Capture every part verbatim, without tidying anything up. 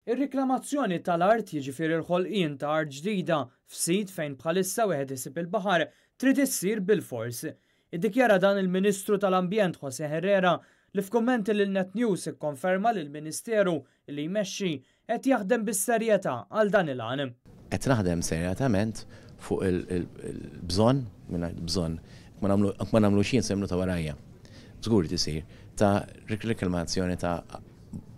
Ir-riklamazzjoni tal-art, jiġifieri l-ħolqien ta' art ġdida f'sit fejn bħalissa wieħed isib il-baħar, trid issir bil-fors. Iddikjara dan il-Ministru tal-Ambjent Jose Herrera, li f'kummenti lil Net News ikkonferma li l-Ministeru li jmexxi qed jaħdem bis-serjetà għal dan il-għan. Qed naħdem serjatament fuq il-bżonn, mingħajr bżonn, ma nagħmlu xejn se ta' warajja. Żgur tisir ta' riklamazzjoni ta'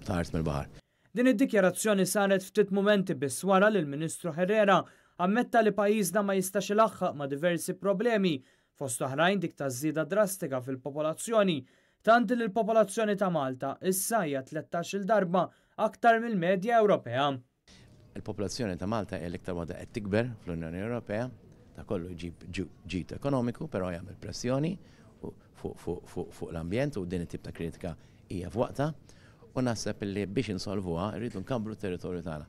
art mill-baħar. Din id-dikjarazzjoni saret ftit mumenti biss wara li l-Ministru Herrera ammetta li pajjiżna ma jistax ilaħħaq ma' diversi problemi, fost oħrajn dik ta' żieda drastika fil-popolazzjoni, tant li l-popolazzjoni ta' Malta issa hija tlettax-il darba aktar mill-medja Ewropea. Il-popolazzjoni ta' Malta hija l-iktar waħda qed tikber fl-Unjoni Ewropea, ta' kollu jġib ġid ekonomiku, però jagħmel pressjoni fuq l-ambjent u din it-tip ta' kritika hija f'waqta. U naħseb li biex insolvuha rridu nkabbru t-territorju tagħna.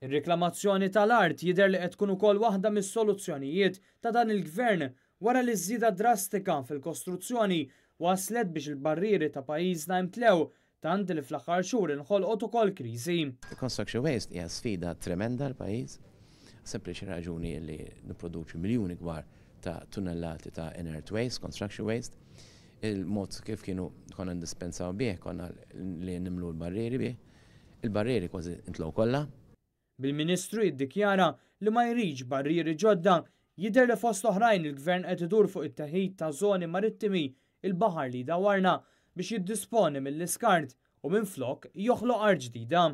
Ir-riklamazzjoni tal-art jidher li qed tkun ukoll waħda mis-soluzzjonijiet ta' dan il-gvern wara li żieda drastika fil-kostruzzjoni waslet biex il-barrieri ta' pajjiżna imtlew, tant li fl-aħħar xhur inħolqot ukoll kriżi. Construction waste hija sfida tremenda l-pajjiż, sempliċi raġuni li nipproduċu miljuni kbar ta' tunnellati ta' inert waste, construction waste. Il-mod kif kienu konna ndispensaw bih, konna li nimlu l-barrieri bih, il-barrieri kważi intlow kollha. Bil-Ministru jiddikjara li ma jridx barrieri ġodda, jidher li fost oħrajn il-gvern qed idur fuq it-teħid ta' żoni marittimi, il-baħar li dawarna, biex jiddisponi mill-iskart u minflok joħloq art ġdida.